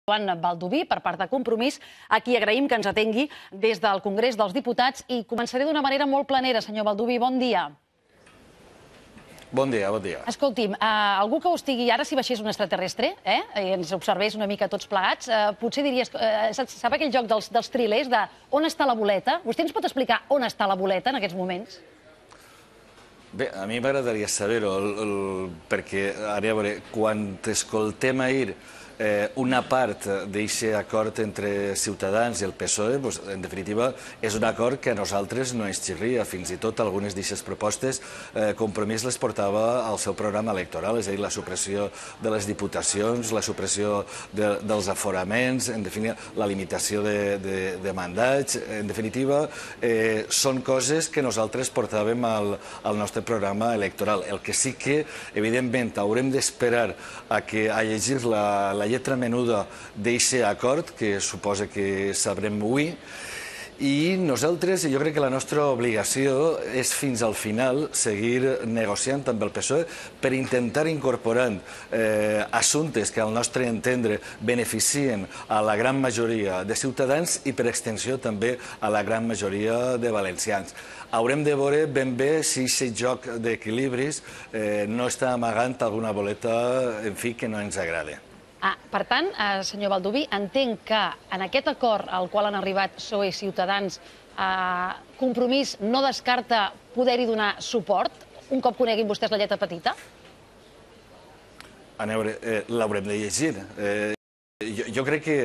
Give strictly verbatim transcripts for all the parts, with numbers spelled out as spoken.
Joan Baldoví, per part de Compromís, a qui agraïm que ens atengui des del Congrés dels Diputats. I començaré d'una manera molt planera, senyor Baldoví. Bon dia. Bon dia, bon dia. Escolti'm, algú que ho estigui ara, si baixés un extraterrestre, i ens observés una mica tots plegats, potser diries... Sap aquell joc dels trilers, de on està la boleta? Vostè ens pot explicar on està la boleta en aquests moments? Bé, a mi m'agradaria saber-ho, perquè, a veure, quan t'escoltem ahir una part d'aquest acord entre Ciutadans i el P S O E, en definitiva, és un acord que a nosaltres no ens xirria. Fins i tot algunes d'aquestes propostes Compromís les portava al seu programa electoral, és a dir, la supressió de les diputacions, la supressió dels aforaments, en definitiva, la limitació de mandats. En definitiva, són coses que nosaltres portàvem al nostre programa electoral. El que sí que, evidentment, haurem d'esperar a llegir la lletra menuda d'aquest acord, que suposa que sabrem avui, i nosaltres, jo crec que la nostra obligació és fins al final seguir negociant amb el P S O E per intentar incorporar assumptes que al nostre entendre beneficien a la gran majoria de ciutadans i per extensió també a la gran majoria de valencians. Haurem de veure ben bé si aquest joc d'equilibris no està amagant alguna boleta, en fi, que no ens agrada. Per tant, senyor Baldoví, entenc que en aquest acord al qual han arribat P S O E i Ciutadans, Compromís no descarta poder-hi donar suport un cop coneguin vostès la lletra petita? A veure, l'haurem de llegir. Jo crec que,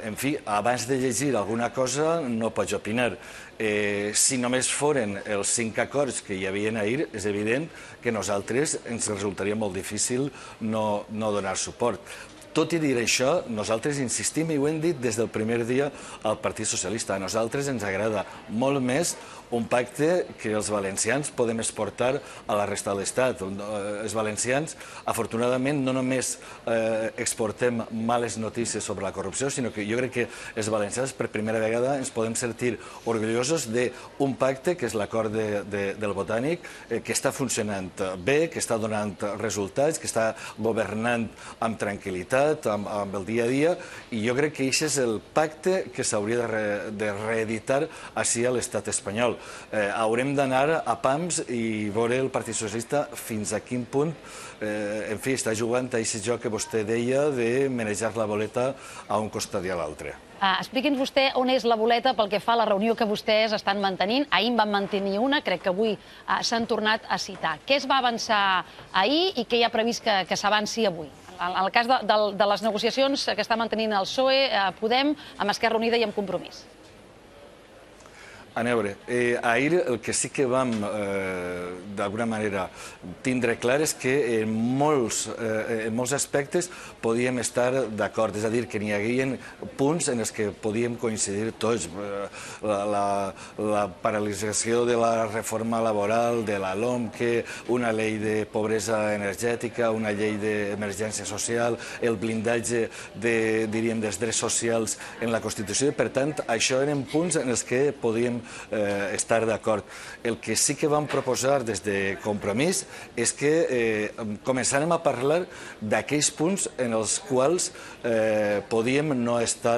en fi, abans de llegir alguna cosa no pots opinar. Si només foren els cinc acords que hi havia ahir, és evident que a nosaltres ens resultaria molt difícil no donar suport. Tot i dir això, nosaltres insistim, i ho hem dit des del primer dia al Partit Socialista, a nosaltres ens agrada molt més un pacte que els valencians podem exportar a la resta de l'Estat. Els valencians, afortunadament, no només exportem males notícies sobre la corrupció, sinó que jo crec que els valencians per primera vegada ens podem sentir orgullosos d'un pacte, que és l'acord del Botànic, que està funcionant bé, que està donant resultats, que està governant amb tranquil·litat, amb el dia a dia, i jo crec que aquest és el pacte que s'hauria de reeditar així a l'estat espanyol. Haurem d'anar a pams i veure el Partit Socialista fins a quin punt, en fi, està jugant a aquest joc que vostè deia de manejar la boleta a un costat i a l'altre. Expliqui'ns vostè on és la boleta pel que fa a la reunió que vostès estan mantenint. Ahir en van mantenir una, crec que avui s'han tornat a citar. Què es va avançar ahir i què hi ha previst que s'avanci avui? En el cas de les negociacions que està mantenint el P S O E, Podem, amb Esquerra Unida i amb Compromís. A veure, ahir el que sí que vam, d'alguna manera, tindre clar és que en molts aspectes podíem estar d'acord, és a dir, que n'hi hagué punts en els que podíem coincidir tots. La paralització de la reforma laboral, de la LOMQE, una llei de pobresa energètica, una llei d'emergència social, el blindatge, diríem, dels drets socials en la Constitució. Per tant, això eren punts en els que podíem estar d'acord. El que sí que vam proposar des de Compromís és que començarem a parlar d'aquells punts en els quals podíem no estar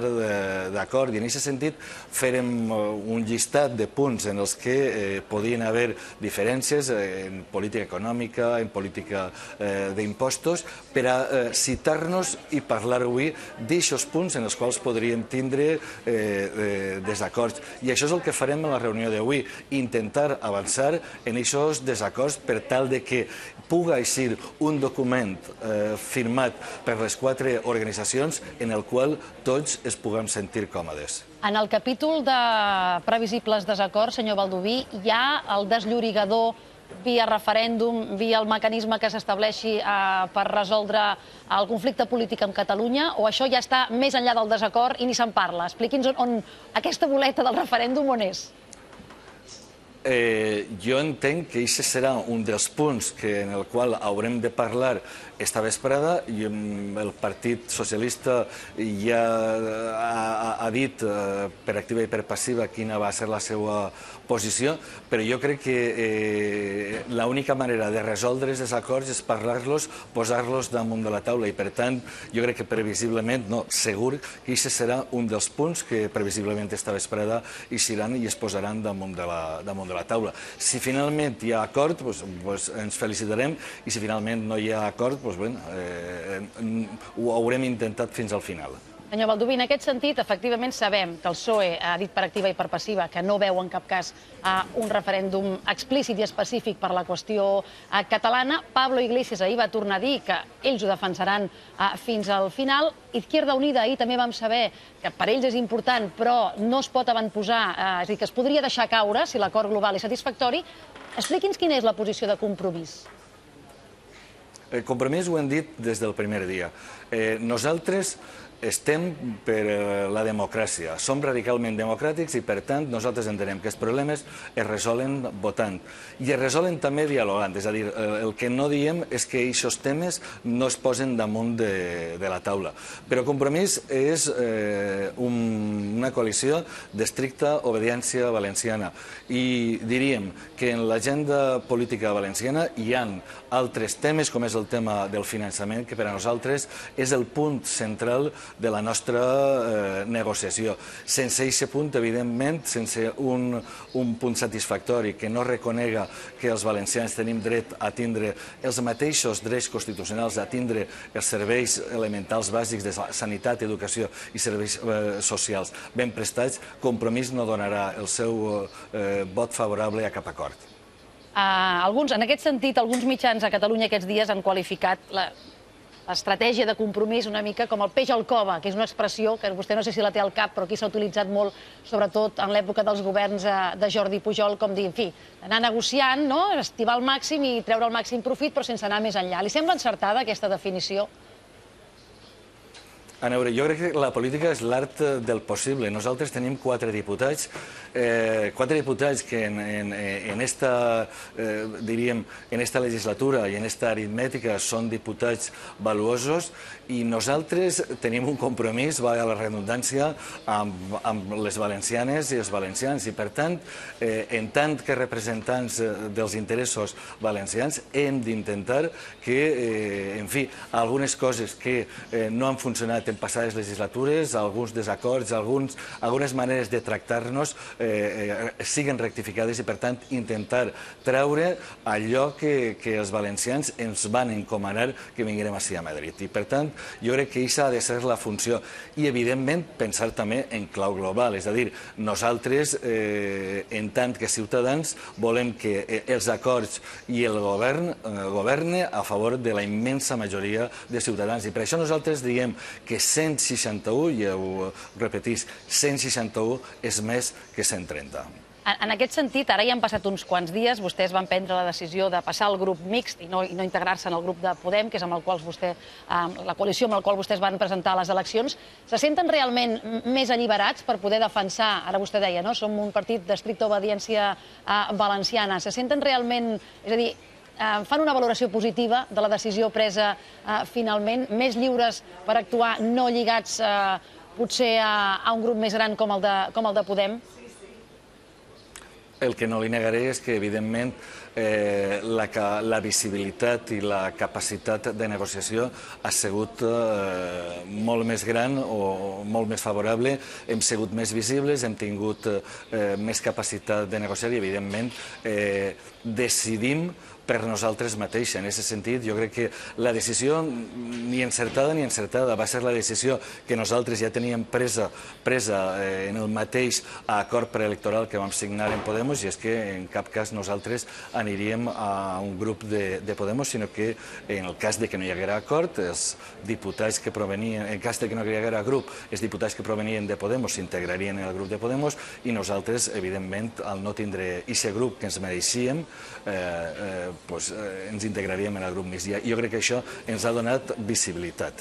d'acord, i en aquest sentit farem un llistat de punts en els que podien haver diferències en política econòmica, en política d'impostos, per a citar-nos i parlar avui d'aixòs punts en els quals podríem tindre desacords. I això és el que farem en la reunió d'avui, intentar avançar en aquests desacords per tal que pugui eixir un document firmat per les quatre organitzacions en el qual tots es puguem sentir còmodes. En el capítol de previsibles desacords, senyor Baldoví, hi ha el desllorigador via referèndum, via el mecanisme que s'estableixi per resoldre el conflicte polític amb Catalunya, o això ja està més enllà del desacord i ni se'n parla? Expliqui'ns on aquesta boleta del referèndum on és. Eh, jo entenc que aquest serà un dels punts que, en el qual haurem de parlar esta vesprada, i el Partit Socialista ja ha, ha dit eh, per activa i per passiva quina va ser la seva posició, però jo crec que eh, l'única manera de resoldre els acords és parlar-los, posar-los damunt de la taula, i per tant jo crec que previsiblement, no, segur que aquest serà un dels punts que previsiblement esta vesprada eixiran i es posaran damunt de la, damunt de la taula. Si finalment hi ha acord, doncs, doncs ens felicitarem, i si finalment no hi ha acord, doncs, bueno, eh, ho haurem intentat fins al final. Senyor Baldoví, en aquest sentit, efectivament sabem que el P S O E ha dit per activa i per passiva que no veu en cap cas un referèndum explícit i específic per la qüestió catalana. Pablo Iglesias ahir va tornar a dir que ells ho defensaran fins al final. Izquierda Unida ahir també vam saber que per ells és important, però no es pot avantposar, és a dir, que es podria deixar caure si l'acord global és satisfactori. Expliqui'ns quina és la posició de Compromís. El Compromís ho hem dit des del primer dia. Nosaltres estem per la democràcia, som radicalment democràtics i, per tant, nosaltres entenem que els problemes es resolen votant i es resolen també dialogant. És a dir, el que no diem és que aquests temes no es posen damunt de, de la taula. Però Compromís és eh, un, una coalició d'estricta obediència valenciana i diríem que en l'agenda política valenciana hi ha altres temes, com és el tema del finançament, que per a nosaltres és el punt central de la nostra eh, negociació. Sense aquest punt, evidentment, sense un, un punt satisfactori que no reconega que els valencians tenim dret a tindre els mateixos drets constitucionals, a tindre els serveis elementals bàsics de sanitat, educació i serveis eh, socials ben prestats, Compromís no donarà el seu eh, vot favorable a cap acord. Uh, alguns, en aquest sentit, alguns mitjans a Catalunya aquests dies han qualificat la l'estratègia de Compromís una mica com el peix al cova, que és una expressió que vostè no sé si la té al cap, però aquí s'ha utilitzat molt, sobretot en l'època dels governs de Jordi Pujol, com dir, en fi, anar negociant, no? Estivar al màxim i treure el màxim profit, però sense anar més enllà. Li sembla encertada aquesta definició? A veure, jo crec que la política és l'art del possible. Nosaltres tenim quatre diputats, eh, quatre diputats que en, en, en esta, eh, diríem, en esta legislatura i en esta aritmètica són diputats valuosos i nosaltres tenim un compromís, va a la redundància, amb, amb les valencianes i els valencians i, per tant, eh, en tant que representants dels interessos valencians, hem d'intentar que, eh, en fi, algunes coses que eh, no han funcionat en passades legislatures, alguns desacords, alguns, algunes maneres de tractar-nos eh, eh, siguen rectificades i, per tant, intentar treure allò que, que els valencians ens van encomanar que vinguérem ací a Madrid. I, per tant, jo crec que aquesta ha de ser la funció. I, evidentment, pensar també en clau global. És a dir, nosaltres, eh, en tant que ciutadans, volem que els acords i el govern eh, governe a favor de la immensa majoria de ciutadans. I per això nosaltres diem que cent seixanta-u, i ho repetís, cent seixanta-u és més que cent trenta. En aquest sentit, ara ja han passat uns quants dies, vostès van prendre la decisió de passar al grup mixt i no, i no integrar-se en el grup de Podem, que és amb el qual vostè, la coalició amb la qual vostès van presentar les eleccions. Se senten realment més alliberats per poder defensar, ara vostè deia, no? Som un partit d'estricta obediència valenciana. Se senten realment, és a dir, fan una valoració positiva de la decisió presa finalment, més lliures per actuar, no lligats potser a un grup més gran com el de Podem? El que no li negaré és que, evidentment, eh, la, la visibilitat i la capacitat de negociació ha sigut eh, molt més gran o molt més favorable. Hem sigut més visibles, hem tingut eh, més capacitat de negociar i, evidentment, eh, decidim per nosaltres mateixos. En aquest sentit, jo crec que la decisió, ni encertada ni encertada, va ser la decisió que nosaltres ja teníem presa, presa eh, en el mateix acord preelectoral que vam signar en Podemos, i és que en cap cas nosaltres aniríem a un grup de, de Podemos, sinó que en el cas de que no hi haguera acord, els diputats que provenien, en cas de que no hi haguera grup, els diputats que provenien de Podemos s'integrarien en el grup de Podemos i nosaltres, evidentment, al no tindre aquest grup que ens mereixíem, eh, eh, Pues, eh, ens integraríem en el grup mixt. Jo crec que això ens ha donat visibilitat.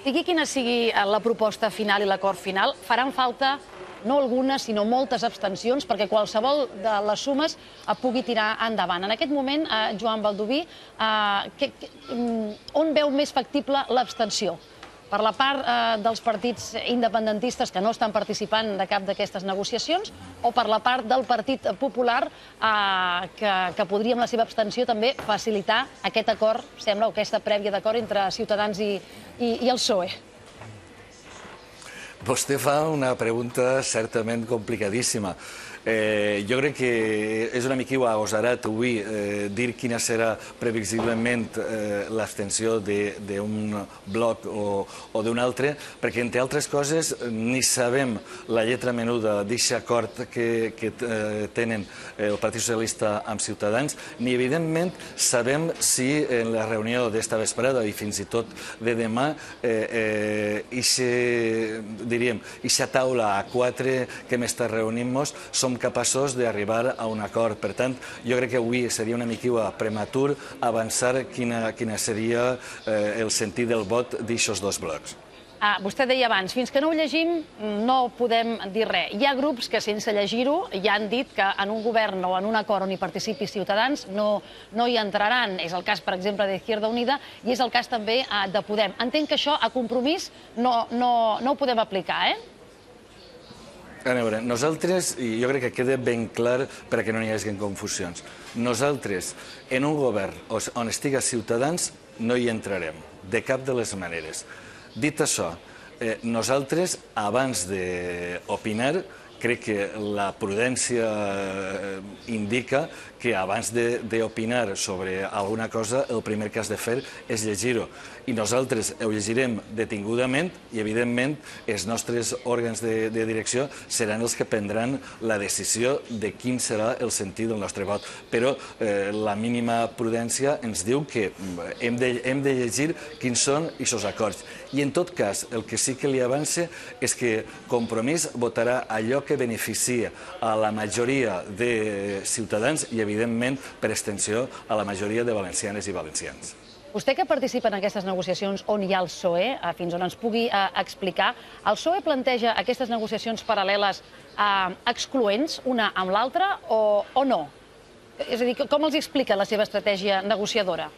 Sigui quina sigui la proposta final i l'acord final, faran falta no algunes, sinó moltes abstencions, perquè qualsevol de les sumes pugui tirar endavant. En aquest moment, Joan Baldoví, on veu més factible l'abstenció? Per la part dels partits independentistes que no estan participant de cap d'aquestes negociacions o per la part del Partit Popular que podria, amb la seva abstenció, també facilitar aquest acord, sembla, o aquesta prèvia d'acord entre Ciutadans i el P S O E? Vostè fa una pregunta certament complicadíssima. Jo crec que és una mica agosarat avui dir quina serà previsiblement l'abstenció d'un bloc o d'un altre, perquè, entre altres coses, ni sabem la lletra menuda d'aquest acord que tenen el Partit Socialista amb Ciutadans, ni, evidentment, sabem si en la reunió d'esta vesprada i fins i tot de demà aquesta taula a quatre que hem estat reunint-nos som capaços d'arribar a un acord. Per tant, jo crec que avui seria una mica prematur avançar quina seria el sentit del vot d'aixòs dos blocs. Vostè deia abans, fins que no ho llegim no podem dir res. Hi ha grups que sense llegir-ho ja han dit que en un govern o en un acord on hi participi Ciutadans no hi entraran. És el cas, per exemple, d'Izquierda Unida i és el cas també de Podem. Entenc que això a Compromís no ho podem aplicar, eh? A veure, nosaltres, i jo crec que queda ben clar perquè no hi hagi confusions, nosaltres en un govern on estiga Ciutadans no hi entrarem, de cap de les maneres. Dit això, nosaltres, abans d'opinar, crec que la prudència indica que abans d'opinar sobre alguna cosa el primer que has de fer és llegir-ho. I nosaltres ho llegirem detingudament i, evidentment, els nostres òrgans de direcció seran els que prendran la decisió de quin serà el sentit del nostre vot. Però la mínima prudència ens diu que hem de llegir quins són aquests acords. I, en tot cas, el que sí que li avance és que Compromís votarà allò que beneficia a la majoria de ciutadans i, evidentment, per extensió, a la majoria de valencianes i valencians. Vostè que participa en aquestes negociacions on hi ha el P S O E, fins on ens pugui explicar, el P S O E planteja aquestes negociacions paral·leles excloents una amb l'altra o no? És a dir, com els explica la seva estratègia negociadora?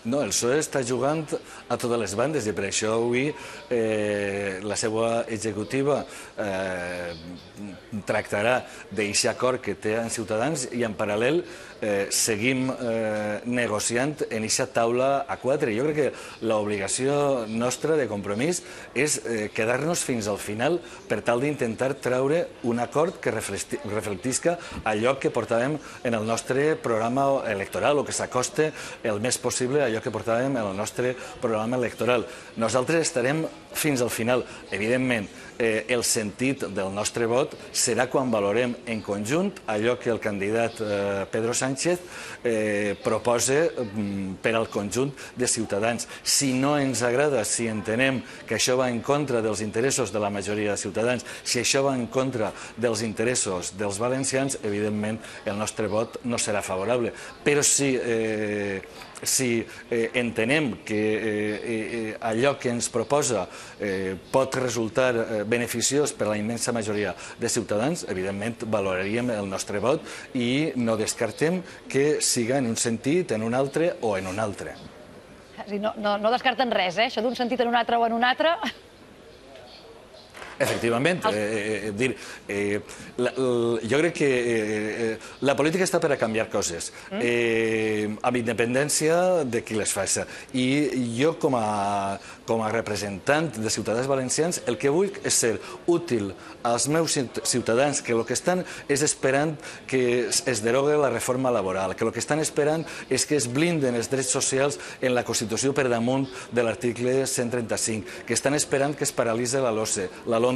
No, el P S O E està jugant a totes les bandes i per això avui la seva executiva tractarà d'aquest acord que té amb Ciutadans i en paral·lel seguim negociant en aquesta taula a quatre. Jo crec que l'obligació nostra de Compromís és quedar-nos fins al final per tal d'intentar treure un acord que reflectisca allò que portàvem en el nostre programa electoral o que s'acoste el més possible a allò que portàvem en el nostre programa electoral. Nosaltres estarem fins al final. Evidentment, el sentit del nostre vot serà quan valorem en conjunt allò que el candidat Pedro Sánchez proposa per al conjunt de ciutadans. Si no ens agrada, si entenem que això va en contra dels interessos de la majoria de ciutadans, si això va en contra dels interessos dels valencians, evidentment el nostre vot no serà favorable. Però si si entenem que allò que ens proposa pot resultar beneficiós per a la immensa majoria de ciutadans, evidentment valoraríem el nostre vot i no descartem que siga en un sentit, en un altre o en un altre. No descarten res, eh? Això d'un sentit en un altre o en un altre... Efectivament, jo crec que la política està per a canviar coses, amb independència de qui les faci. I jo, com a representant de ciutadans valencians, el que vull és ser útil als meus ciutadans, que el que estan és esperant que es derogue la reforma laboral, que el que estan esperant és que es blinden els drets socials en la Constitució per damunt de l'article cent trenta-cinc, que estan esperant que es paralitzi la LOMCE, la LOMCE,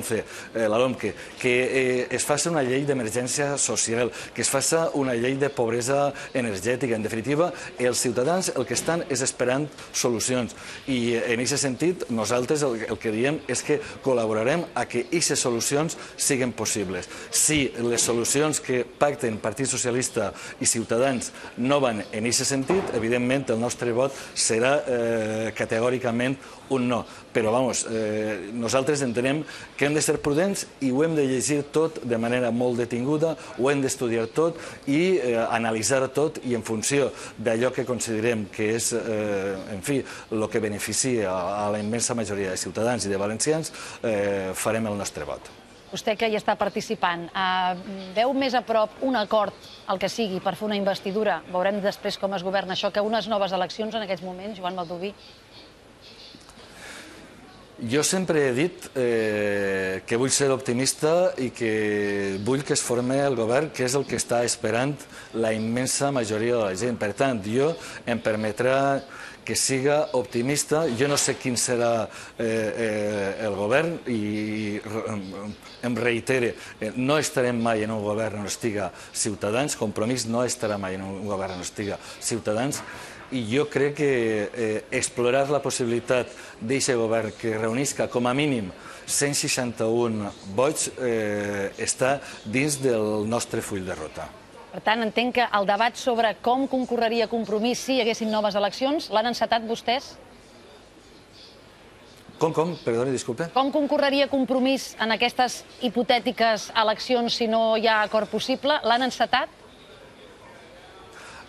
que es faci una llei d'emergència social, que es faci una llei de pobresa energètica. En definitiva, els ciutadans el que estan és esperant solucions. I en aquest sentit, nosaltres el que diem és que col·laborarem a que aquestes solucions siguin possibles. Si les solucions que pacten Partit Socialista i Ciutadans no van en aquest sentit, evidentment el nostre vot serà categòricament un no. Però, vamos, nosaltres entenem que que hem de ser prudents i ho hem de llegir tot de manera molt detinguda, ho hem d'estudiar tot i eh, analitzar tot, i en funció d'allò que considerem que és, eh, en fi, el que beneficia a la immensa majoria de ciutadans i de valencians, eh, farem el nostre vot. Vostè que hi està participant, eh, veu més a prop un acord, el que sigui, per fer una investidura? Veurem després com es governa això, que unes noves eleccions en aquests moments, Joan Baldoví? Jo sempre he dit eh, que vull ser optimista i que vull que es formi el govern, que és el que està esperant la immensa majoria de la gent. Per tant, jo em permetrà que siga optimista. Jo no sé quin serà eh, eh, el govern i em reitere, eh, no estarem mai en un govern on estiga Ciutadans, Compromís no estarà mai en un govern on estiga Ciutadans, i jo crec que eh, explorar la possibilitat d'aquest govern que reunisca com a mínim cent seixanta-un vots eh, està dins del nostre full de ruta. Per tant, entenc que el debat sobre com concorreria Compromís si hi haguessin noves eleccions l'han encetat vostès? Com, com? Perdoni, disculpe. Com concorreria Compromís en aquestes hipotètiques eleccions si no hi ha acord possible? L'han encetat?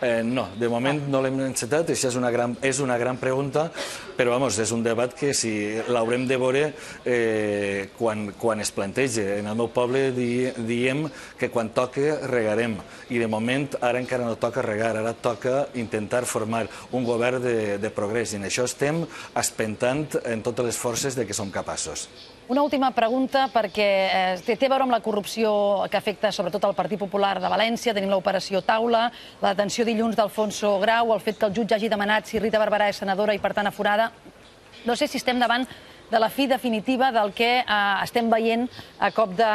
Eh, no, de moment no l'hem encetat, això és una gran, és una gran pregunta, però vamos, és un debat que si l'haurem de veure eh, quan, quan es plantegi. En el meu poble di, diem que quan toca regarem, i de moment ara encara no toca regar, ara toca intentar formar un govern de, de progrés, i en això estem espentant en totes les forces de que som capaços. Una última pregunta, perquè eh, té, té a veure amb la corrupció que afecta sobretot el Partit Popular de València. Tenim l'operació Taula, la detenció dilluns d'Alfonso Grau, el fet que el jutge hagi demanat si Rita Barberà és senadora i per tant aforada. No sé si estem davant de la fi definitiva del que eh, estem veient a cop de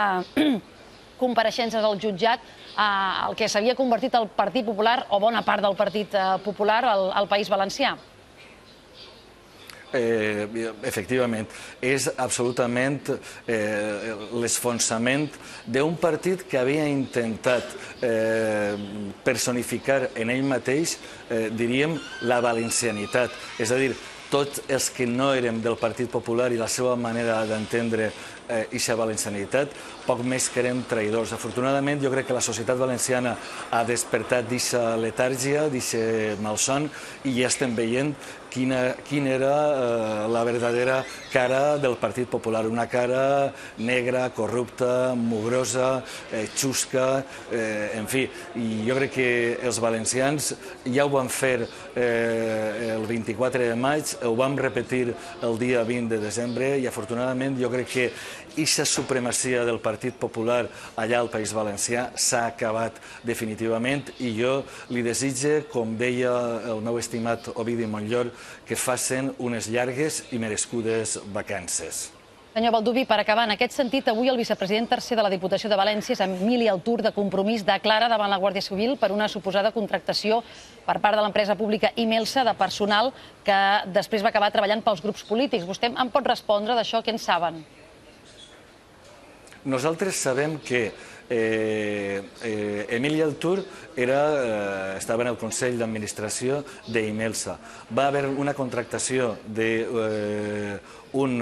compareixences al jutjat, eh, el que s'havia convertit el Partit Popular, o bona part del Partit eh, Popular, al, al País Valencià. Eh, efectivament, és absolutament eh, l'esfonsament d'un partit que havia intentat eh, personificar en ell mateix, eh, diríem, la valencianitat. És a dir, tots els que no érem del Partit Popular i la seva manera d'entendre aquesta valencianitat, poc més que érem traïdors. Afortunadament, jo crec que la societat valenciana ha despertat d'aquesta letàrgia, d'aquest malson, i ja estem veient quina, quina era eh, la verdadera cara del Partit Popular. Una cara negra, corrupta, mugrosa, eh, xusca, eh, en fi. I jo crec que els valencians ja ho van fer eh, el vint-i-quatre de maig, ho vam repetir el dia vint de desembre, i afortunadament jo crec que aquesta supremacia del Partit Popular allà al País Valencià s'ha acabat definitivament, i jo li desitge, com deia el meu estimat Ovidi Montllor, que facin unes llargues i merescudes vacances. Senyor Baldoví, per acabar, en aquest sentit, avui el vicepresident tercer de la Diputació de València, Emili Altur, de Compromís, declara davant la Guàrdia Civil per una suposada contractació per part de l'empresa pública Imelsa de personal que després va acabar treballant pels grups polítics. Vostè em pot respondre d'això? Què en saben? Nosaltres sabem que eh, eh, Emili Altur era, eh, estava en el Consell d'Administració d'Imelsa. Va haver una contractació d'un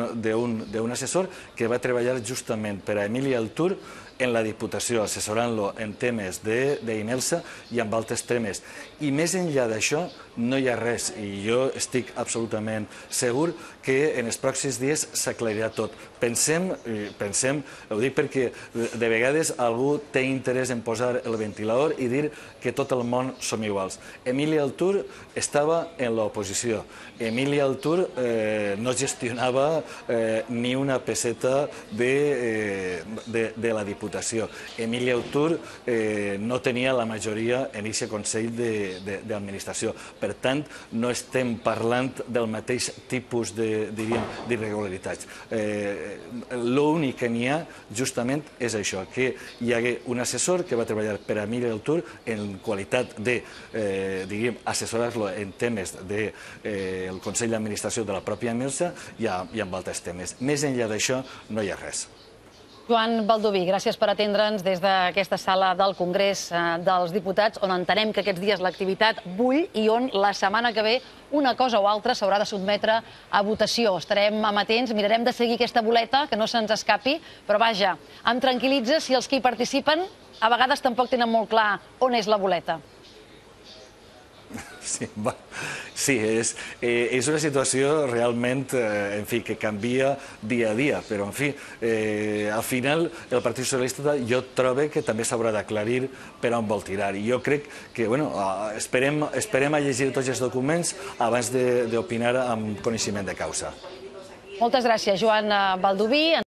eh, assessor que va treballar justament per a Emili Altur en la Diputació, assessorant-lo en temes d'Imelsa i en altres temes. I més enllà d'això no hi ha res, i jo estic absolutament segur que en els pròxims dies s'aclarirà tot. Pensem, pensem, ho dic perquè de vegades algú té interès en posar el ventilador i dir que tot el món som iguals. Emili Altur estava en l'oposició. Emili Altur eh, no gestionava eh, ni una peseta de, eh, de, de la Diputació. Emili Altur eh, no tenia la majoria en aquest Consell d'Administració. Per tant, no estem parlant del mateix tipus d'irregularitats. Eh, L'únic que n'hi ha, justament, és això, que hi hagué un assessor que va treballar per a Emili Altur en qualitat de, eh, diguem, assessorar-lo en temes del eh, Consell d'Administració de la pròpia Imelsa i, a, i amb altres temes. Més enllà d'això, no hi ha res. Joan Baldoví, gràcies per atendre'ns des d'aquesta sala del Congrés dels Diputats, on entenem que aquests dies l'activitat bull i on la setmana que ve una cosa o altra s'haurà de sotmetre a votació. Estarem amatents, mirarem de seguir aquesta boleta, que no se'ns escapi, però vaja, em tranquil·litza si els que hi participen a vegades tampoc tenen molt clar on és la boleta. Sí, va. Sí, és, eh, és una situació realment, eh, en fi, que canvia dia a dia, però, en fi, eh, al final el Partit Socialista jo trobo que també s'haurà d'aclarir per on vol tirar. I jo crec que, bueno, esperem, esperem a llegir tots els documents abans d'opinar amb coneixement de causa. Moltes gràcies, Joan Baldoví.